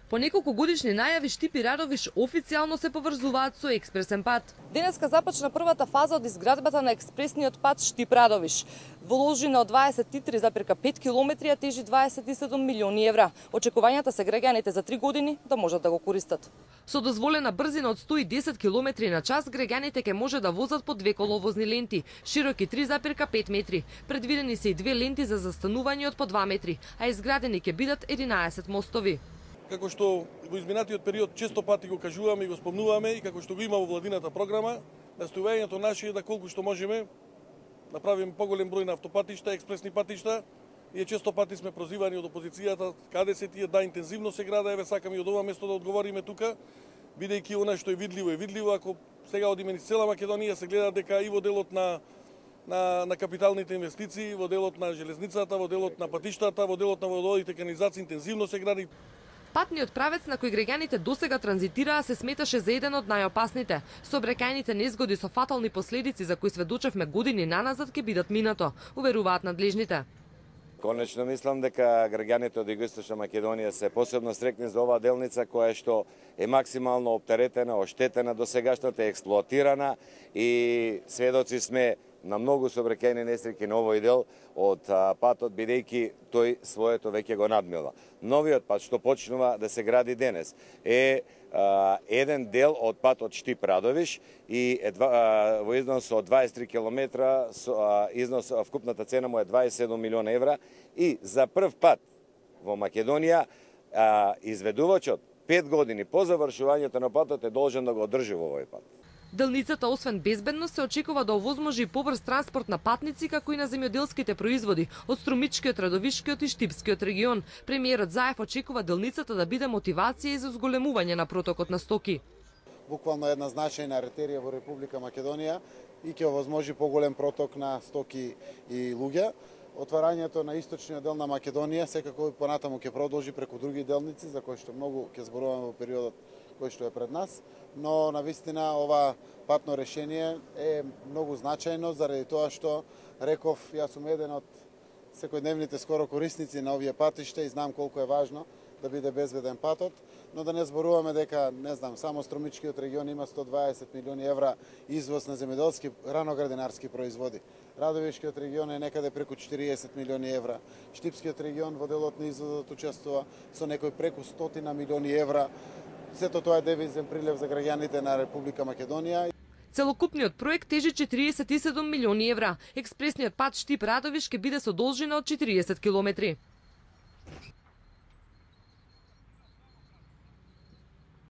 По неколку годишни најави Штип и Радовиш официјално се поврзуваат со експресен пат. Денеска започна првата фаза од изградбата на експресниот пат Штип Радовиш. Вложена од 23,5 километри, а тежи 27 милиони евра. Очекувањата се граѓаните за 3 години да можат да го користат. Со дозволена брзина од 110 километри на час, граѓаните ќе може да возат по 2 коловозни ленти, широки 3,5 метри. Предвидени се и 2 ленти за застанување од по 2 метри, а изградени ќе бидат 11 мостови. Како што во изминатиот период често пати го кажуваме и го спомнуваме и како што го има во владината програма, настојувањето наше е да колку што можеме направиме поголем број на автопатишта, експресни патишта, и често пати сме прозивани од опозицијата каде се тие, да, интензивно се града, еве сакаме и од ова место да одговориме тука, бидејќи она што е видливо, ако сега одиме низ цела Македонија се гледа дека и во делот на капиталните инвестиции, во делот на железницата, во делот на патиштата, во делот на водоводите, канализации интензивно се гради. Патниот правец на кој граѓаните досега транзитираа се сметаше за еден од најопасните. Сообраќајните незгоди со фатални последици за кои сведочевме години наназад ќе бидат минато, уверуваат надлежните. Конечно мислам дека граѓаните од Југоисточна Македонија се посебно срекни за оваа делница која што е максимално оптеретена, оштетена досегашната, експлоатирана и сведоци сме на многу сообраќајни несреќи на овој дел од патот, бидејќи тој своето веќе го надмила. Новиот пат што почнува да се гради денес е еден дел од патот Штип Радовиш и во износ од 23 километра, износ вкупната цена му е 27 милиона евра и за прв пат во Македонија изведувачот 5 години по завршувањето на патот е должен да го одржи во овој пат. Делницата, освен безбедност, се очекува да овозможи и побрз транспорт на патници, како и на земјоделските производи од Струмичкиот, Радовишкиот и Штипскиот регион. Премиерот Заев очекува делницата да биде мотивација и за зголемување на протокот на стоки. Буквално една значајна артерија во Република Македонија и ќе овозможи поголем проток на стоки и луѓе. Отварањето на источниот дел на Македонија секако понатаму ќе продолжи преку други делници за кои што многу ќе зборуваме во периодот кој што е пред нас, но навистина ова патно решение е многу значајно заради тоа што реков, јас сум еден од секојдневните скоро корисници на овие патишта и знам колку е важно да биде безбеден патот, но да не зборуваме дека, не знам, само Струмичкиот регион има 120 милиони евра извоз на земјоделски раноградинарски производи. Радовишкиот регион е некаде преку 40 милиони евра. Штипскиот регион во делот на извозот учествува со некој преку 100 милиони евра. Сето тоа е девизен прилив за граѓаните на Република Македонија. Целокупниот проект тежи 47 милиони евра. Експресниот пат Штип Радовиш ќе биде со должина од 40 километри.